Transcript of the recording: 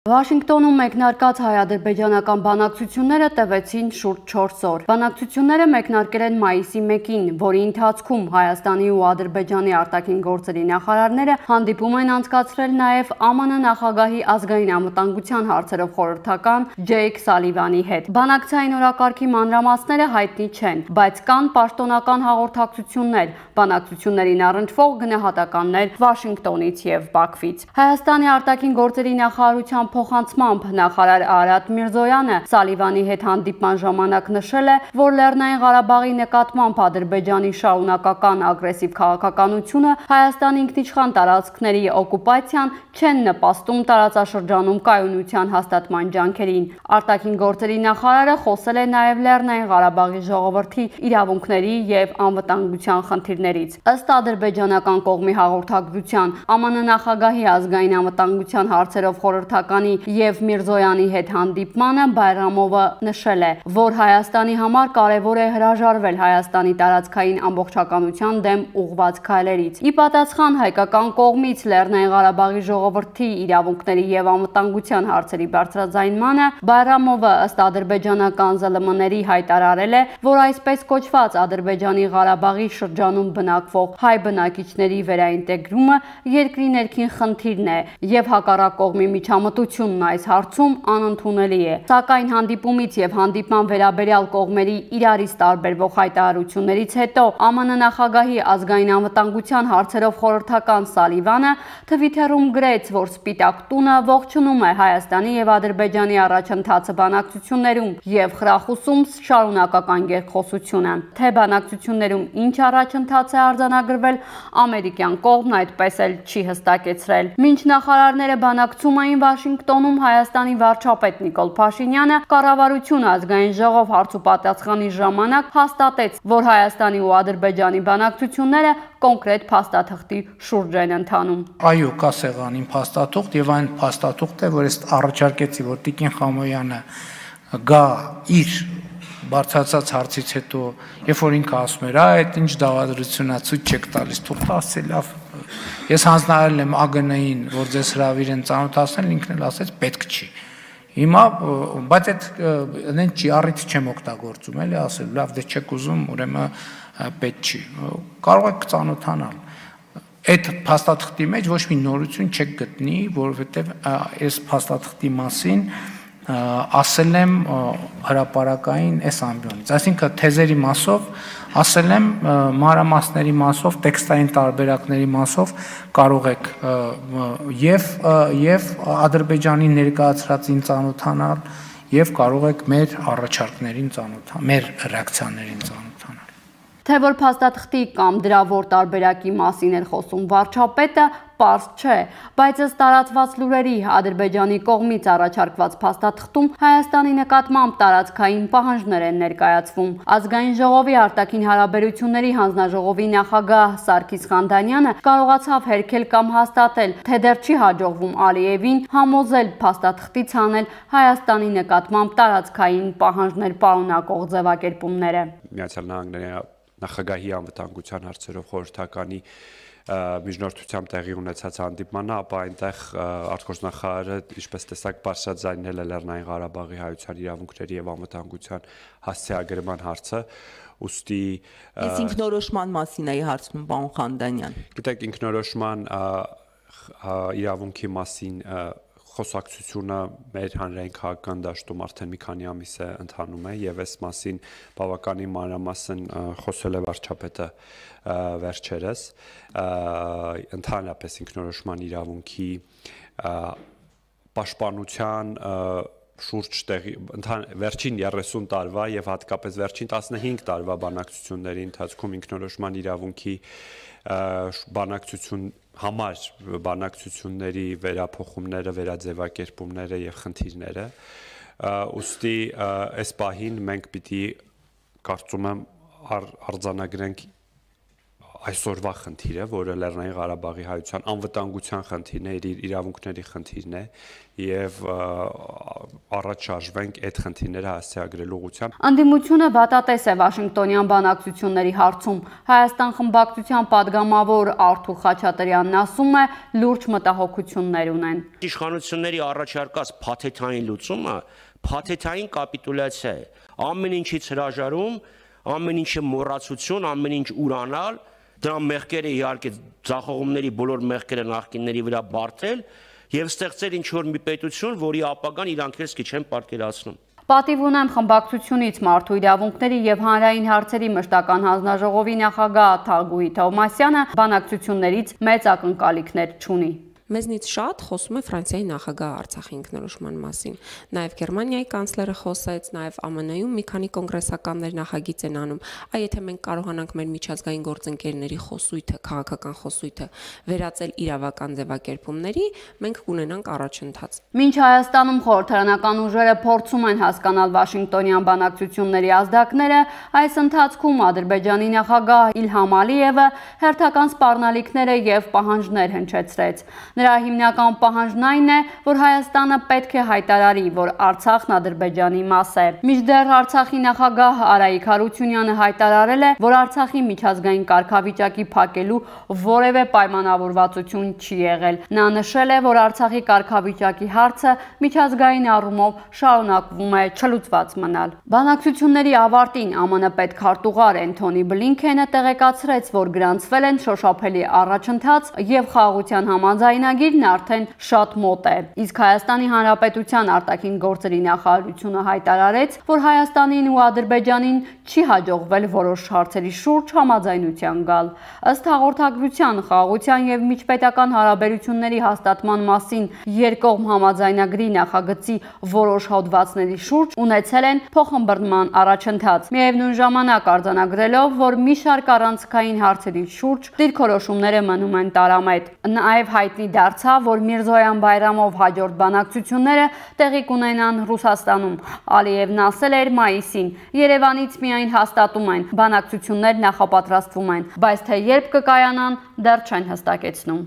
Վաշինգտոնում մեկնարկած հայ-ադրբեջանական բանակցությունները տևեցին շուրջ 4 օր։ Բանակցությունները մեկնարկել են մայիսի 1-ին, որի ընթացքում Հայաստանի ու Ադրբեջանի արտաքին գործերի նախարարները հանդիպում են անցկացրել նաև ԱՄՆ նախագահի ազգային անվտանգության հարցերով խորհրդական Ջեյք Սալիվանի հետ։ Բանակցային օրակարգի մանրամասները հայտնի չեն, բայց կան պաշտոնական հաղորդակցություններ, բանակցություններին առնչվող գնահատականներ Վաշինգտոնից եւ Բաքվից։ Հայաստանի արտաքին գործերի նախարարության փոխանցմամբ նախարար Արարատ Միրզոյանը Սալիվանի հետ հանդիպման ժամանակ նշել է, որ Լեռնային Ղարաբաղի նկատմամբ Ադրբեջանի շարունակական ագրեսիվ քաղաքականությունը Հայաստանի ինքնիշխան տարածքների օկուպացիան չեն նպաստում տարածաշրջանում կայունության հաստատման ջանքերին։ Արտաքին գործերի նախարարը խոսել է նաև Լեռնային Ղարաբաղի ժողովրդի իրավունքների եւ անվտանգության խնդիրներից։ Ըստ ադրբեջանական կողմի հաղորդագրության, ԱՄՆ նախագահի ազգային անվտանգության հարցերով խորհրդական եւ Միրզոյանի հետ հանդիպմանը Բայրամովը նշել է, որ Հայաստանի համար կարևոր է հրաժարվել Հայաստանի տարածքային ամբողջականության դեմ ուղղված քայլերից։ Ի պատասխան հայկական կողմից Լեռնային Ղարաբաղի ժողովրդի իրավունքների եւ անվտանգության հարցերի բարձրաձայնմանը Բայրամովը ըստ ադրբեջանական ԶԼՄ-ների հայտարարել է, որ այսպես կոչված Ադրբեջանի Ղարաբաղի շրջանում բնակվող հայ բնակիչների վերաինտեգրումը երկրի ներքին խնդիրն է եւ հակառակ կողմի միջամտությունն այս հարցում անընդունելի է։ Սակայն հանդիպումից եւ հանդիպման վերաբերյալ կողմերի իրարից տարբերվող հայտարարություններից հետո ԱՄՆ նախագահի ազգային անվտանգության հարցերով խորհրդական Սալիվանը Թվիթերում գրեց, որ Սպիտակ տունը ողջունում է Հայաստանի եւ Ադրբեջանի առաջընթացը բանակցություններում եւ խրախուսում շարունակական երկխոսությունը։ Թե բանակցություններում ինչ առաջընթաց է արձանագրվել, ամերիկյան կողմն այդպես էլ չի հստակեցրել։ Մինչ նախարարները բանակցում էին Վաշինգտոնում, Հայաստանի վարչապետ Նիկոլ Փաշինյանը կառավարություն ազգային ժողով հարցուպատասխանի ժամանակ հաստատեց, որ Հայաստանի ու Ադրբեջանի բանակցությունները կոնկրետ փաստաթղթի շուրջ են ընթանում։ Այո, կա սեղանին փաստաթուղթ եւ այն փաստաթուղթը, որ ես առաջարկեցի, որ Տիկին Խամոյանը գա իր բարձրացած հարցից հետո, երբ որ ինքը ասում էր, այդ ինչ դավադրությունա ցույց չեք տալիս, թող ասել լավ։ Ես հանձնարարել եմ ԱԳՆ-ին, որ ձեզ հրավիր են ծանոթացնել, ինքն էլ ասեց պետք չի։ Հիմա, բայց այդ չի առիթ չեմ օգտագործում, էլի ասել, լավ, դե չեք ուզում, ուրեմն պետք չի։ Կարող եք ծանոթանալ։ Այդ փաստաթղթի մեջ ոչ մի նորություն չեք գտնի, որովհետև այս փաստաթղթի մասին ասել եմ հրապարակային այս ամբիոնից, այսինքն թեզերի մասով ասել եմ, մանրամասների մասով, տեքստային տարբերակների մասով կարող եք եւ Ադրբեջանի ներկայացրածին ծանոթանալ եւ կարող եք մեր առաջարկներին ծանոթանալ, մեր ռեակցիաներին ծանոթանալ։ Թե որ փաստաթղթի կամ դրա որ տարբերակի մասին էր խոսում վարչապետը, պարզ չէ, բայց ըստ տարածված լուրերի Ադրբեջանի կողմից առաջարկված փաստաթղթում Հայաստանի նկատմամբ տարածքային պահանջներ են ներկայացվում։ Ազգային ժողովի արտաքին հարաբերությունների հանձնաժողովի նախագահ Սարգիս Խանդանյանը կարողացավ հերքել կամ հաստատել, թե դեռ չի հաջողվում Ալիևին համոզել փաստաթղթից հանել Հայաստանի նկատմամբ տարածքային պահանջներ պարունակող ձևակերպումները։ Միացյալ Նահանգների նախագահի անվտանգության հարցերով խորհրդականի միջնորդությամբ տեղի ունեցած հանդիպմանը, ապա այնտեղ արտգործնախարարը, ինչպես տեսակ, բարձրաձայնել է Լեռնային Ղարաբաղի հայության իրավունքների եւ անվտանգության հասցեագրման հարցը, ուստի Իսկ ինքնորոշման մասին էի հարցնում, պարոն Խանդանյան։ Գիտեք, ինքնորոշման իրավունքի մասին խոսակցությունը մեր հանրային քաղաքական դաշտում արդեն մի քանի ամիս է ընթանում է եւ այս մասին բավականին մանրամասն խոսել է վարչապետը վերջերս ընդհանրապես ինքնորոշման իրավունքի պաշտպանության շուրջ տեղի վերջին 30 տարվա եւ հատկապես վերջին 15 տարվա բանակցությունների ընթացքում ինքնորոշման իրավունքի բանակցություն համար բանակցությունների վերափոխումները, վերաձևակերպումները եւ խնդիրները, ուստի այս պահին մենք պիտի կարծում եմ արձանագրենք այսօրվա խնդիրը, որը Լեռնային Ղարաբաղի հայության անվտանգության խնդիրն է, իր իրավունքների խնդիրն է եւ առաջ շարժվենք այդ խնդիրները հասցեագրելու ուղղությամբ։ Անդիմությունը վատատես է Վաշինգտոնյան բանակցությունների հարցում։ Հայաստան խմբակցության падգամավոր Արթուր Խաչատրյանն ասում է, լուրջ մտահոգություններ ունեն։ Իշխանությունների առաջարկած փաթեթային լուծումը փաթեթային կապիտուլյացիա է։ Ամեն ինչից հրաժարում, ամեն ինչը մոռացություն, ամեն ինչ ուրանալ, դրա մեղքերը իհարկե ձախողումների բոլոր մեղքերը նախկինների վրա բարթել եւ ստեղծել ինչ-որ մի պետություն, որի ապագան իրանք էլ սկի չեն պատկերացնում։ Պատիվ ունեմ խմբակցությունից մարդու իրավունքների եւ հանրային հարցերի մշտական հանձնաժողովի նախագահ Թագուհի Թովմասյանը բանակցություններից մեծ ակնկալիքներ չունի։ Մեզնից շատ խոսում է Ֆրանսիայի նախագահը Արցախի ինքնորոշման մասին։ Նաև Գերմանիայի կանցլերը խոսեց, նաև ԱՄՆ-ում մի քանի կոնգրեսականներ նախագիծ են անում։ Այ եթե մենք կարողանանք մեր միջազգային գործընկերների խոսույթը, քաղաքական խոսույթը վերածել իրավական ձևակերպումների, մենք կունենանք առաջընթաց։ Մինչ Հայաստանում խորհրդարանական ուժերը փորձում են հասկանալ Վաշինգտոնյան բանակցությունների ազդակները, այս ընթացքում Ադրբեջանի նախագահ Իլհամ Ալիևը հերթական սպառնալիքներ եւ պահանջներ հնչեցրեց։ Նրա հիմնական պահանջն այն է, որ Հայաստանը պետք է հայտարարի, որ Արցախն Ադրբեջանի մաս է։ Մինչդեռ Արցախի նախագահ Արայիկ Հարությունյանը հայտարարել է, որ Արցախի միջազգային կարգավիճակի փակելու որևէ պայմանավորվածություն չի եղել։ Նա նշել է, որ Արցախի կարգավիճակի հարցը միջազգային առումով շարունակվում է չլուծված մնալ։ Բանակցությունների ավարտին ԱՄՆ պետքարտուղար Էնթոնի Բլինքենը տեղեկացրեց, որ գրանցվել են շոշափելի առաջընթաց եւ խաղաղության համաձայնագիրն արդեն շատ մոտ է։ Իսկ Հայաստանի Հանրապետության արտաքին գործերի նախարարությունը հայտարարեց, որ Հայաստանին ու Ադրբեջանին չի հաջողվել որոշ հարցերի շուրջ համաձայնության գալ։ Ըստ հաղորդագրության, խաղաղության եւ միջպետական հարաբերությունների հաստատման մասին երկկողմ համաձայնագրի նախագծի որոշ հոդվածների շուրջ ունեցել են փոխըմբռնման առաջընթաց։ Միևնույն ժամանակ արձանագրելով, որ մի շարք առանցքային հարցերի շուրջ դիրքորոշումները մնում են տարամետ։ Նաև հայտնի դարձավ, որ Միրզոյան Բայրամով հաջորդ բանակցությունները տեղի կունենան Ռուսաստանում։ Ալիևն ասել էր մայիսին. Երևանից միայն հաստատում են, բանակցություններ նախապատրաստվում են, բայց թե երբ կկայանան, դեռ չեն հստակեցնում։